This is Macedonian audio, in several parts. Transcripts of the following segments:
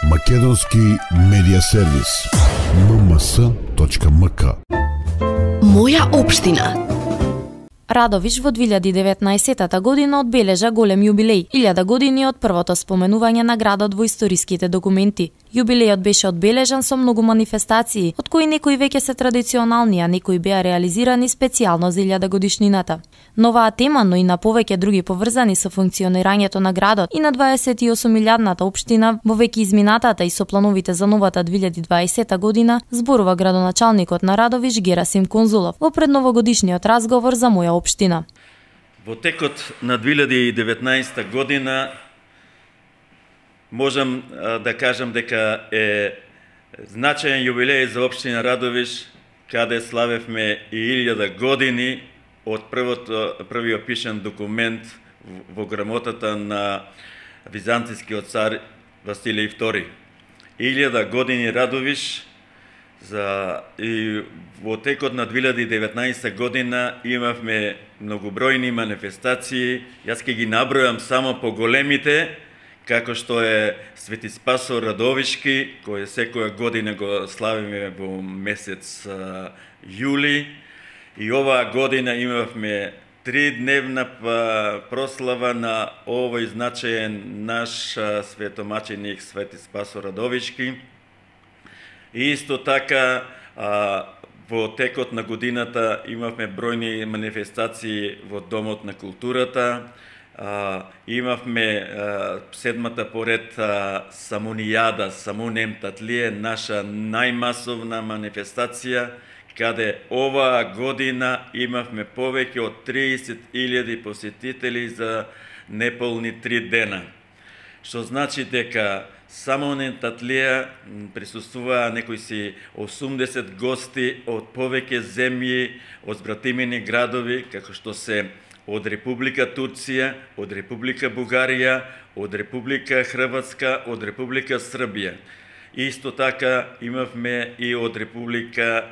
Македонски медија сервис. mms.mk. Моја општина. Радовиш во 2019 година одбележа голем јубилеј, 1000 години од првото споменување на градот во историските документи. Јубилејот беше одбележан со многу манифестации, од кои некои веќе се традиционални, а некои беа реализирани специјално за 1000 годишнината. На оваа тема, но и на повеќе други поврзани со функционирањето на градот и на 28.000-ната општина во веќе изминатата и со плановите за новата 2020 година, зборува градоначалникот на Радовиш Герасим Конзулов во предновогодишниот разговор за Моја општина. Во текот на 2019 година можам да кажам дека е значаен јубилеј за општина Радовиш, каде славевме и 1000 години од првиот пишан документ во грамотата на византискиот цар Василий II. 1000 години Радовиш, и во текот на 2019 година имавме многобројни манифестации. Јас ќе ги набројам само по големите, како што е Свети Спасо Радовишки, кој секоја година го славиме во месец јули. И оваа година имавме 3-дневна прослава на овој значаен наш светомаченик Свети Спасо Радовишки. И исто така, во текот на годината имавме бројни манифестации во Домот на културата, имавме седмата поред Самунијада, Самунем Татлие, наша најмасовна манифестација, каде оваа година имавме повеќе од 30.000 посетители за неполни 3 дена. Што значи дека Самунем Татлија присуствуваа некои си 80 гости од повеќе земји, од збратимени градови, како што се од Република Турција, од Република Бугарија, од Република Хрватска, од Република Србија. Исто така имавме и од Република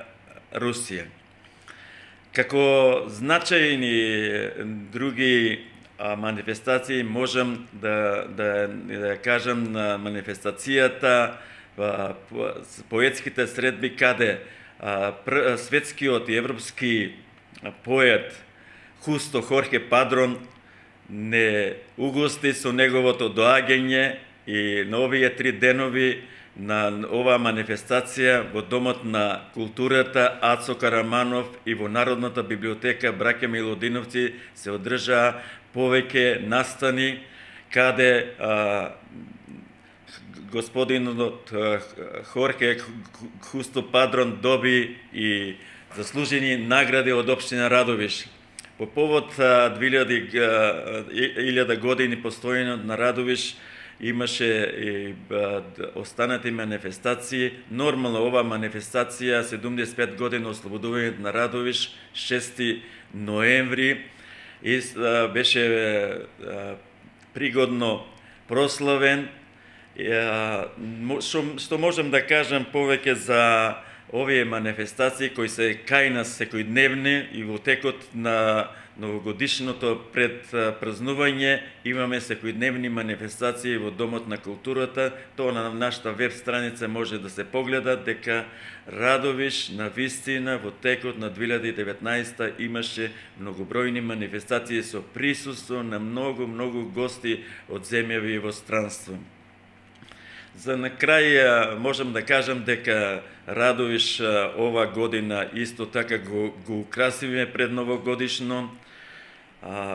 Русија. Како значајни други манифестации можам да кажам на манифестацијата поетските средби, каде светскиот и европски поет Хусто Хорхе Падрон не угости со неговото доаѓање и на овие 3 денови на оваа манифестација во Домот на културата Ацо Караманов и во Народната библиотека Браќа Милодиновци се одржаа повеќе настани, каде господинот Хорхе Хусто Падрон доби и заслужени награди од општина Радовиш. По повод 1000 години постојање на Радовиш имаше и останати манифестации. Нормално ова манифестација 75 години ослободувањето на Радовиш, 6 ноември, и беше пригодно прославен. Што можам да кажам повеќе за овие манифестации кои се кај нас секојдневни, и во текот на новогодишното предпразнување имаме секојдневни манифестации во Домот на културата. Тоа на нашата веб страница може да се погледа дека Радовиш на вистина во текот на 2019 имаше многобројни манифестации со присуство на многу гости од земјави во странство. За на крај можам да кажам дека Радовиш ова година исто така го украсивме пред новогодишно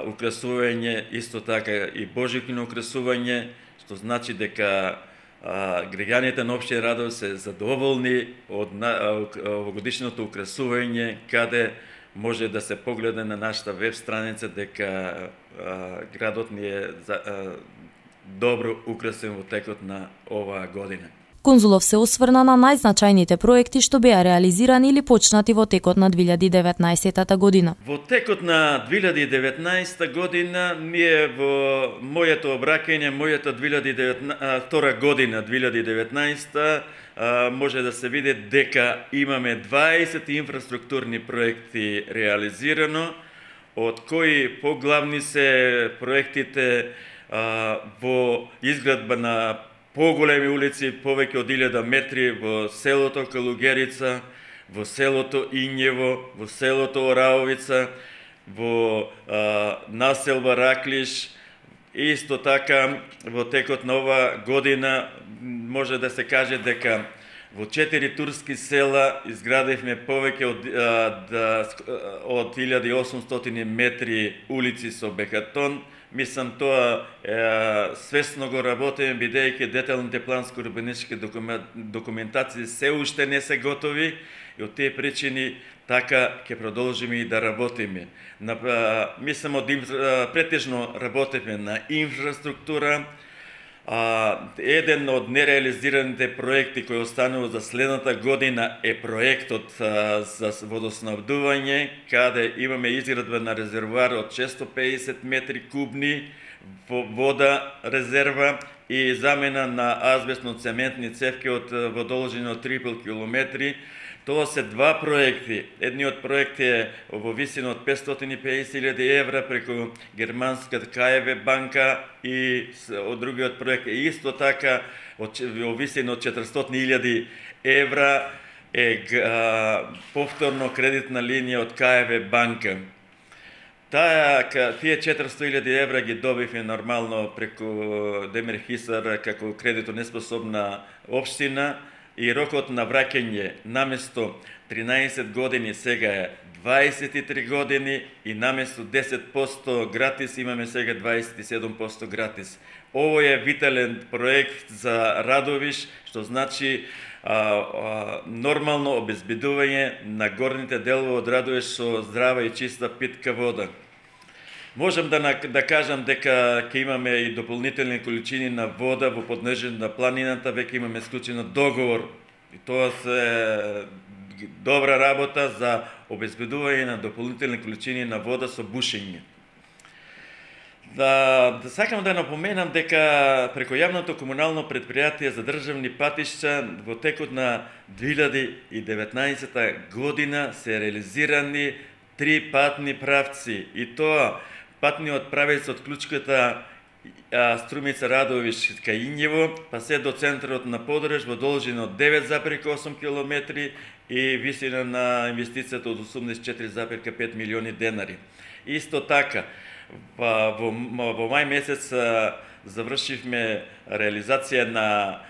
украсување, исто така и божично украсување, што значи дека граѓаните на општина Радовиш се задоволни од овогодишното украсување, каде може да се погледа на нашата веб страница дека градот ни е добро украсен во текот на оваа година. Конзулов се осврна на најзначајните проекти што беа реализирани или почнати во текот на 2019 година. Во текот на 2019 година ние во моето обраќање, мојата 2019 година, 2019, може да се види дека имаме 20 инфраструктурни проекти реализирано, од кои поглавни се проектите во изградба на поголеми улици, повеќе од 1000 метри во селото Калугерица, во селото Инјево, во селото Ораовица, во населба Раклиш. Исто така, во текот на ова година, може да се каже дека во 4 турски села изградивме повеќе од 1800 метри улици со бекатон. Мислам, тоа свесно го работиме, бидејќи деталните планско-урбанистички документации се уште не се готови и од тие причини така ќе продолжиме и да работиме. Мислам, претежно работиме на инфраструктура. Еден од нереализираните проекти кој останува за следната година е проектот за водоснабдување, каде имаме изградба на резервоар од 650 метри кубни вода резерва и замена на азбестно-цементни цевки во должина од 3,5 километри. Тоа се два проекти. Едниот проект е во висина од 550.000 евра преку германската КФ банка и од другиот проект е исто така во висина од 400.000 евра е повторно кредитна линија од КФ банка. Тие 400.000 евра ги добивме нормално преку Демир Хисар како кредито неспособна општина. И рокот на враќање наместо 13 години сега е 23 години и наместо 10% гратис имаме сега 27% гратис. Ово е витален проект за Радовиш, што значи нормално обезбедување на горните делови од Радовиш со здрава и чиста питка вода. Можам да кажам дека ќе имаме и дополнителни количини на вода во поднежен на планината, веќе имаме склучен договор. И тоа се добра работа за обезбедување на дополнителни количини на вода со бушење. Сакам да напоменам дека преку јавното комунално претпријатие за државни патишта во текот на 2019 година се реализирани 3 патни правци и тоа патниот правец од клучката Струмица Радовиш кај Инјево, па се до центарот на Подрž во должина од 9,8 км и висина на инвестицијата од 84,5 милиони денари. Исто така, во мај месец завршивме реализација на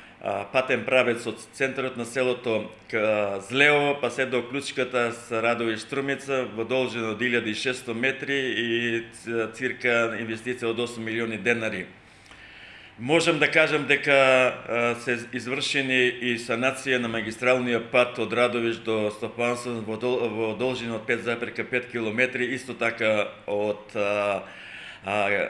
патен правец од центарот на селото Злеово, па се до клучката Радовиш Струмица во должина од 1600 метри и цирка инвестиција од 8 милиони денари. Можам да кажам дека се извршени и санација на магистралниот пат од Радовиш до Стопанство во должина од 5,5 км, исто така од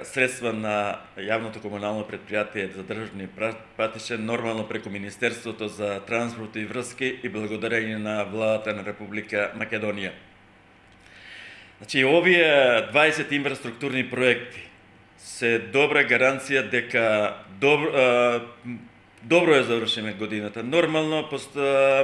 средства на јавното комунално претпријатие за државни патишта, нормално преку Министерството за транспорт и врски и благодарение на владата на Република Македонија. Значи, овие 20 инфраструктурни проекти се добра гаранција дека добро е завршиме годината. Нормално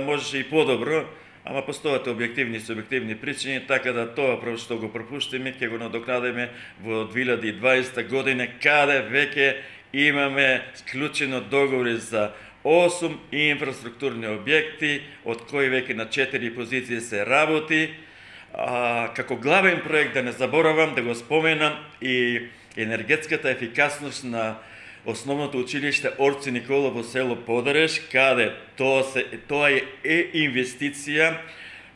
можеше и подобро, ама постојат објективни и субјективни причини, така да тоа што го пропуштиме, ќе го надокнадиме во 2020 година, каде веќе имаме склучено договори за 8 инфраструктурни објекти, од кои веќе на 4 позиции се работи. Како главен проект, да не заборавам, да го споменам и енергетската ефикасност на основното училиште Орци Никола во село Подрž, каде тоа е инвестиција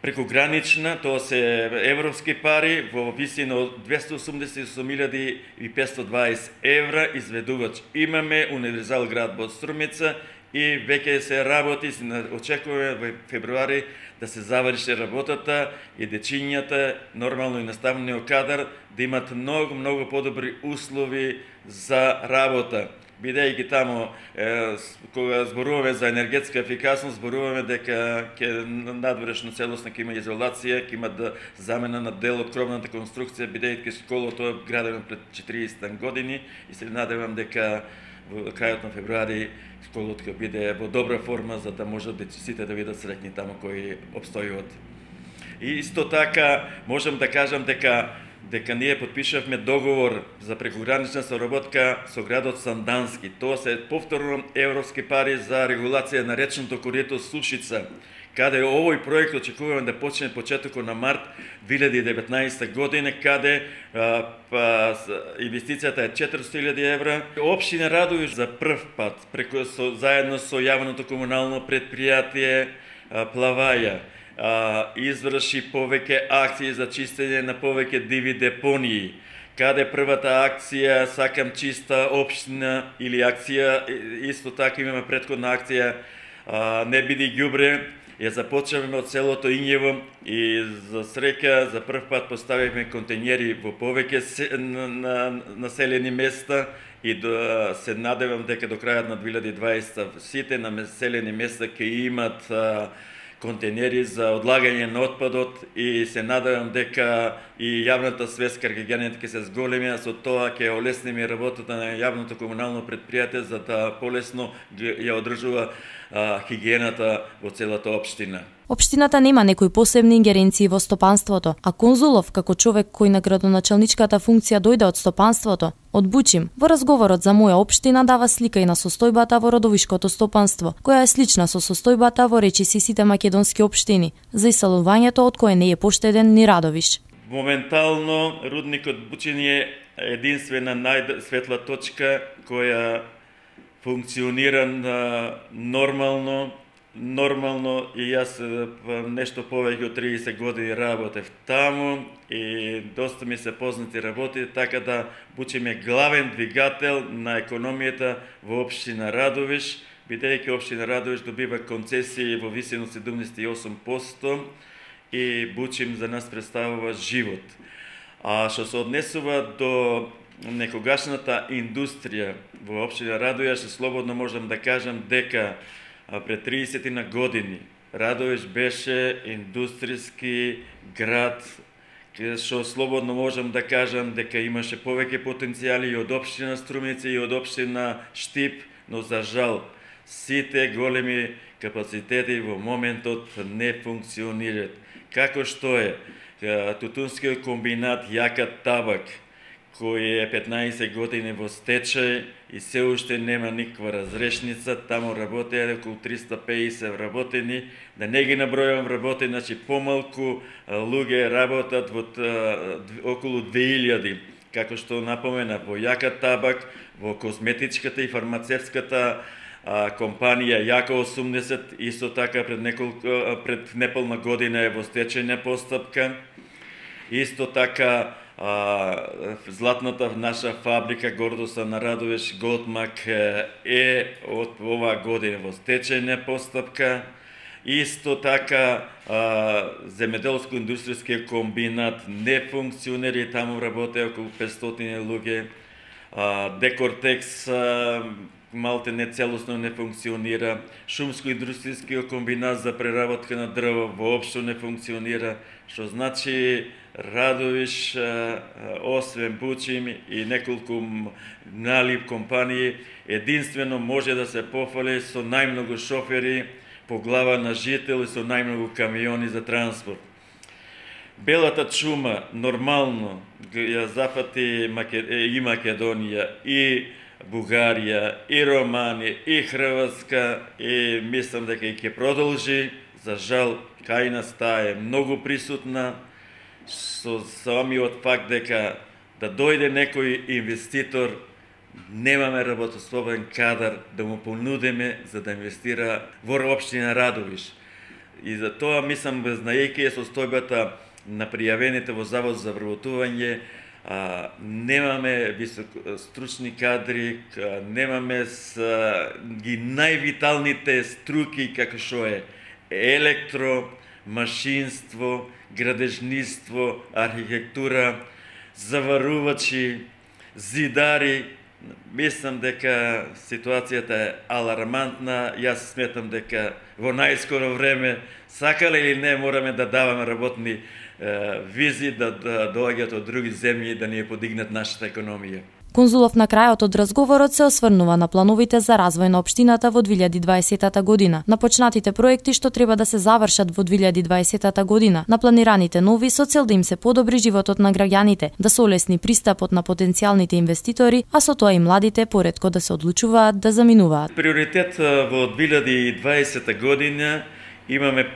прекогранична, тоа се европски пари во висина од 288.520 евра изведувач. Имаме универзал град во Струмица и веќе се работи, очекуваме во февруари да се заврши работата и дечињата, нормално и наставниот кадар, да имат многу подобри услови за работа. Бидејќи таму, кога зборуваме за енергетска ефикасност, зборуваме дека ќе надворешно целосно ќе има изолација, ќе има замена на дел од кровната конструкција, бидејќи школото е градено пред 40 години и се надевам дека во крајот на февруари школото ќе биде во добра форма за да можат дечиците да бидат среќни таму кои обстојуват. И исто така можам да кажам дека дека ние подпишавме договор за прекогранична соработка со градот Сандански. Тоа се повторно европски пари за регулација на речното корито Сушица, каде овој проект очекуваме да почне почетокот на март 2019 година, каде инвестицијата е 400.000 евра. Општина Радовиш за прв пат, заедно со јавното комунално предпријатие Плаваја, изврши повеќе акции за чистење на повеќе диви депонии, каде првата акција Сакам чиста општина или акција, исто така имаме претходна акција Не биди ѓубре, ја започнавме од селото Ињево и за среќа за прв пат поставивме контењери во повеќе населени места и се надевам дека до крајот на 2020 сите населени места ќе имат контейнери за одлагање на отпадот и се надевам дека и јавната свест кај граѓаните ќе се зголеми, а со тоа ќе олесниме работата на јавното комунално предпријатие за да полесно ја одржува хигиената во целата општина. Општината нема некои посебни ингеренции во стопанството, а Конзулов, како човек кој на градоначалничката функција дојде од стопанството, од Бучим, во разговорот за моја општина дава слика и на состојбата во родовишкото стопанство, која е слична со состојбата во речиси сите македонски општини, за иселувањето од кое не е поштеден ни Радовиш. Моментално рудникот Бучин е единствена најсветла точка која функционира нормално и јас нешто повеќе од 30 години работев таму и доста ми се познати работи, така да Бучим е главен двигател на економијата во општина Радовиш, бидејќи општина Радовиш добива концесии во висина 78% и Бучим за нас представува живот. А што се однесува до некогашната индустрија во општина Радовиш, слободно можам да кажам дека пред 30 на години Радовиш беше индустријски град, што слободно можам да кажам дека имаше повеќе потенцијали и од општина Струмица и од општина Штип, но за жал сите големи капацитети во моментот не функционираат. Како што е тутунскиот комбинат Јака Табак, кој е 15 години во стечај и се уште нема никаква разрешница, таму работи околу 350 вработени, да не ги набројувам вработени, значи помалку луѓе работат во околу 2000, како што напомена во Јака Табак, во козметичката и фармацевската компанија Јака 80, исто така пред неполна година е во стечајна постапка. Исто така златната наша фабрика Гордоса на Радовиш Голдмак е од оваа година во стечајна постапка. Исто така земјоделско-индустријски комбинат не функционира и таму работи околу 500 луѓе. Декортекс малте не целосно не функционира. Шумско-индустријскиот комбинат за преработка на дрво воопшто не функционира, што значи Радовиш, освен Бучим и неколку мали компании, единствено може да се пофали со најмногу шофери по глава на жител и со најмногу камиони за транспорт. Белата чума нормално ја зафати и Македонија, и Бугарија, и Романија, и Хрватска, и мислам дека и ќе продолжи. За жал, кај нас таа е многу присутна, со самиот факт дека да дојде некој инвеститор, немаме работоспособен кадар да му понудиме за да инвестира во општина Радовиш. И за тоа мислам, знаејќи состојбата на пријавените во Завод за вработување, немаме високостручни кадри, немаме ги највиталните струки како што е електро, машинство, градежниство, архитектура, заварувачи, зидари. Мислам дека ситуацијата е алармантна. Јас сметам дека во најскоро време, сакале или не, мораме да даваме работни визи, да доаѓаат од други земји да ни ја подигнат нашата економија. Конзулов на крајот од разговорот се осврнува на плановите за развој на општината во 2020 година, на почнатите проекти што треба да се завршат во 2020 година, на планираните нови со цел да им се подобри животот на граѓаните, да се олесни пристапот на потенцијалните инвеститори, а со тоа и младите поретко да се одлучуваат да заминуваат. Приоритет во 2020 година имаме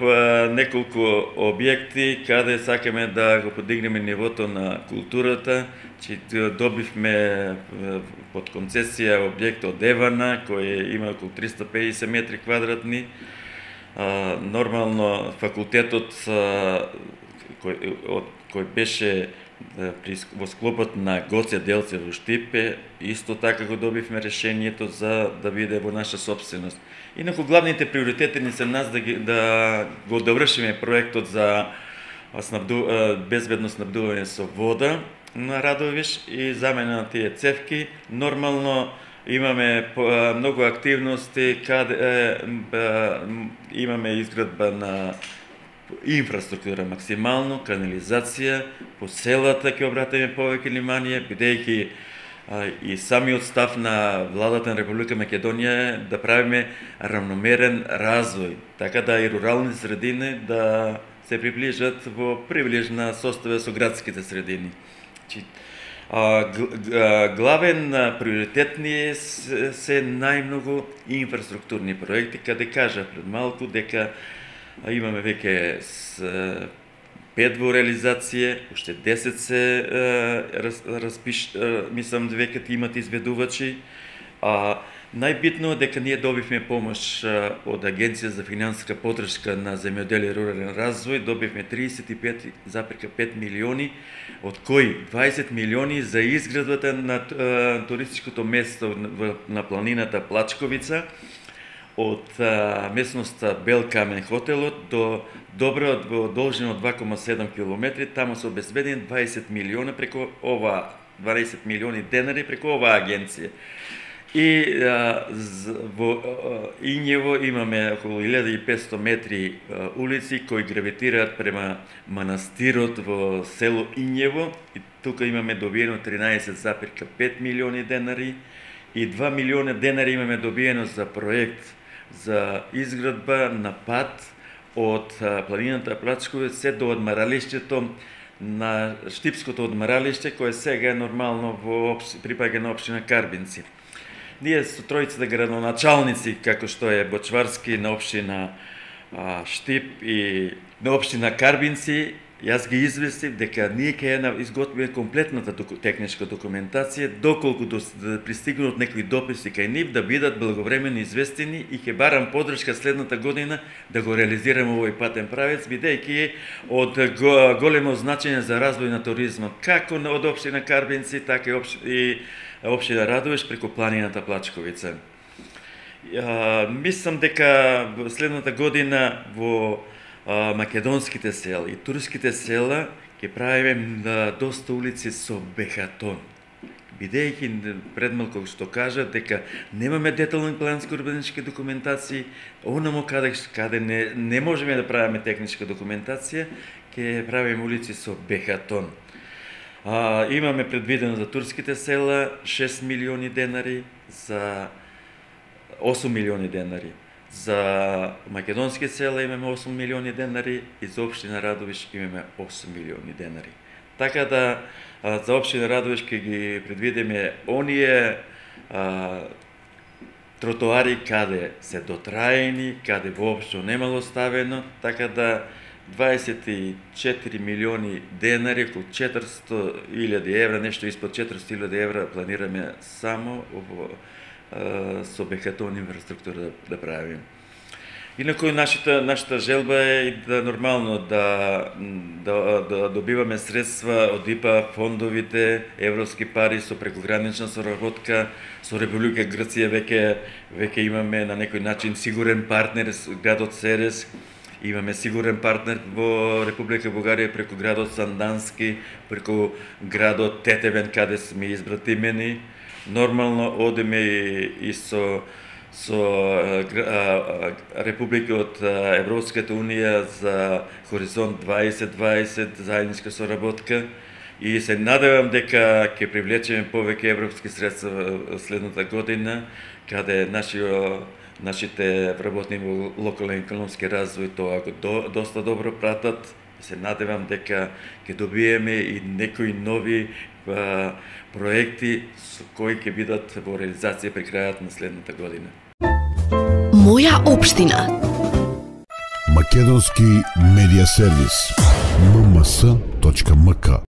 неколку објекти каде сакаме да го подигнеме нивото на културата. Добивме под концесија објект од Евана, кој има околу 350 метри квадратни. Нормално факултетот кој беше во склопот на Гоце Делчев во Штипе, исто така го добивме решението за да биде во наша собственост. Инаку главните приоритети ни се нас да го довршиме проектот за безбедно снабдување со вода на Радовиш и замена на тие цевки. Нормално имаме многу активности каде имаме изградба на инфраструктура максимално, канализација, по селата ќе обратиме повеќе внимание, бидејќи и самиот став на владата на Република Македонија е да правиме равномерен развој, така да и рурални средини да се приближат во привлежна состава со градските средини. Главен приоритет ни се најмногу инфраструктурни проекти, каде кажа пред малку дека имаме веќе 5 во реализација, уште 10 се мислам веќе имат изведувачи. Најбитно е дека ние добивме помош од Агенција за финансиска поддршка на земјоделие и рурален развој, добивме 35,5 милиони, од кои 20 милиони за изградбата на туристичкото место на планината Плачковица, од местноста Бел Камен хотелот до Добра во должина од 2,7 километри, таму се обезбедени 20 милиони преку ова 20 милиони денари преку оваа агенција. И во Ињево имаме околу 1500 метри улици кои гравитираат према манастирот во село Ињево, и тука имаме добиено 13,5 милиони денари и 2 милиони денари имаме добиено за проект за изградба на пат од планината Плачковица се до одмаралиштето на Штипското одмаралиште, кое сега е нормално припаѓа на општина Карбинци. Ние со тројцата градоначалници, како што е Бочварски на општина Штип и на општина Карбинци, јас ги известив дека ние ќе изготвиме комплетната техничка документација, доколку пристигнат некои дописи кај нив, да бидат благовремено известени и ќе барам поддршка следната година да го реализираме овој патен правец, бидејќи од големо значење за развој на туризмот, како од општина Карбинци, така и општина Радовиш преку планината Плачковица. Мислам дека следната година во македонските села и турските села ќе правиме доста улици со бехатон. Бидејќи предмалку што кажа дека немаме детални планско-урбанистички документации, онамо каде не можеме да правиме техничка документација, ќе правиме улици со бехатон. Имаме предвидено за турските села 6 милиони денари, за 8 милиони денари. За македонски села имаме 8 милиони денари и за општина Радовиш имаме 8 милиони денари. Така да за општина Радовиш ќе ги предвидиме оние тротоари каде се дотраени, каде воопшто немало ставено, така да 24 милиони денари, околу 400.000 евра, нешто испод 400.000 евра планираме само со бехатон инфраструктура да правиме. Инаку нашата желба е да нормално да добиваме средства од ИПА фондовите, европски пари со прекогранична соработка со Република Грција. Веќе имаме на некој начин сигурен партнер градот Серес. Имаме сигурен партнер во Република Бугарија преку градот Сандански, преку градот Тетевен, каде сме избратимени. Нормално одиме и со републики од Европската Унија за Хоризонт 2020, заедничка соработка. и се надевам дека ќе привлечеме повеќе европски средства следната година, каде нашите вработни во локален економски развој тоа го доста добро пратат. Се надевам дека ќе добиеме и некои нови проекти со кои ќе бидат во реализација при крајот на следната година. Моја општина. Македонски медиа сервис. mms.mk